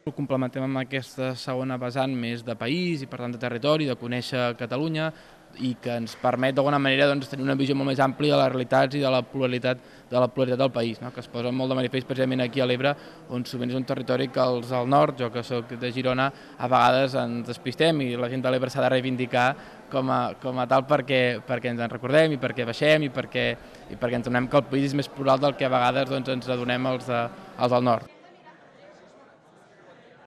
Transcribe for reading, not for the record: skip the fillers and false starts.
Ho complementem amb aquesta segona vessant més de país i per tant de territori, de conèixer Catalunya i que ens permet d'alguna manera tenir una visió molt més àmplia de les realitats i de la pluralitat del país, que es posa molt de manifest precisament aquí a l'Ebre, on sovint és un territori que els al nord, jo que soc de Girona, a vegades ens despistem i la gent de l'Ebre s'ha de reivindicar com a tal perquè ens en recordem i perquè baixem i perquè ens adonem que el país és més plural del que a vegades ens adonem els del nord.